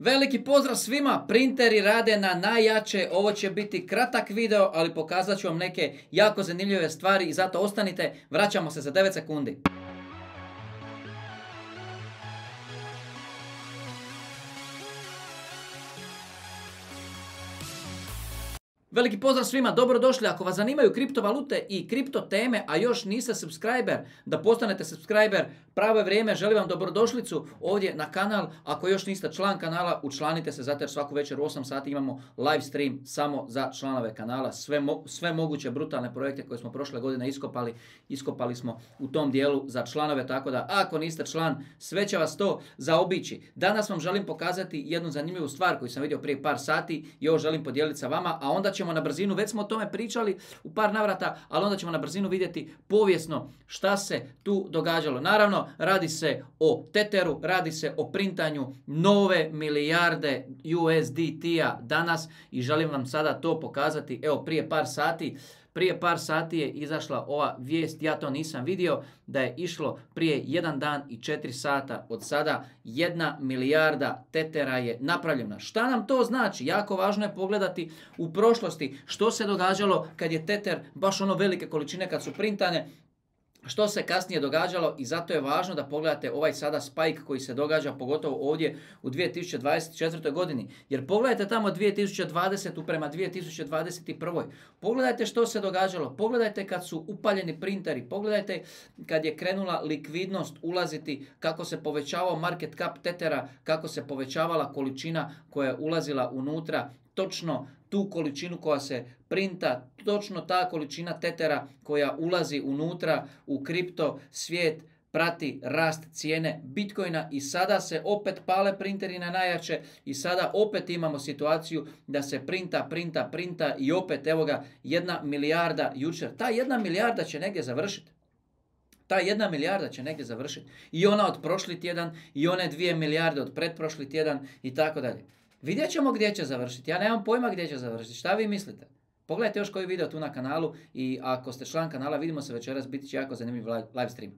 Veliki pozdrav svima, printeri rade na najjače, ovo će biti kratak video, ali pokazat ću vam neke jako zanimljive stvari i zato ostanite, vraćamo se za 9 sekundi. Veliki pozdrav svima, dobrodošli. Ako vas zanimaju kriptovalute i kripto teme, a još niste subscriber, da postanete subscriber, pravo je vrijeme, želim vam dobrodošlicu ovdje na kanal. Ako još niste član kanala, učlanite se, zato jer svaku večer u 8 sati imamo live stream samo za članove kanala. Sve moguće brutalne projekte koje smo prošle godine iskopali smo u tom dijelu za članove, tako da ako niste član, sve će vas to zaobići. Danas vam želim pokazati jednu zanimljivu stvar koju sam vidio prije par sati i ovo želim podijeliti sa vama, a onda ćemo na brzinu, već smo o tome pričali u par navrata, ali onda ćemo na brzinu vidjeti povijesno šta se tu događalo. Naravno, radi se o Tetheru, radi se o printanju nove milijarde USDT-a danas i želim vam sada to pokazati. Evo, prije par sati je izašla ova vijest, ja to nisam vidio, da je išlo prije 1 dan i 4 sata od sada 1 milijarda Tethera je napravljena. Šta nam to znači? Jako važno je pogledati u prošlosti što se događalo kad je Tether baš ono velike količine kad su printane, što se kasnije događalo i zato je važno da pogledate ovaj sada spike koji se događa pogotovo ovdje u 2024. godini. Jer pogledajte tamo 2020. prema 2021. Pogledajte što se događalo, pogledajte kad su upaljeni printeri, pogledajte kad je krenula likvidnost ulaziti, kako se povećavao market cap Tethera, kako se povećavala količina koja je ulazila unutra. Točno tu količinu koja se printa, točno ta količina Tethera koja ulazi unutra u kripto svijet prati rast cijene Bitcoina i sada se opet pale printeri na najjače i sada opet imamo situaciju da se printa i opet evo ga 1 milijarda jučer. Ta 1 milijarda će negdje završiti. Ta 1 milijarda će negdje završiti. I ona od prošli tjedan i one 2 milijarde od pretprošli tjedan i tako dalje. Vidjet ćemo gdje će završiti. Ja nemam pojma gdje će završiti. Šta vi mislite? Pogledajte još koji video tu na kanalu i ako ste član kanala, vidimo se večeras, biti će jako zanimljiv live stream.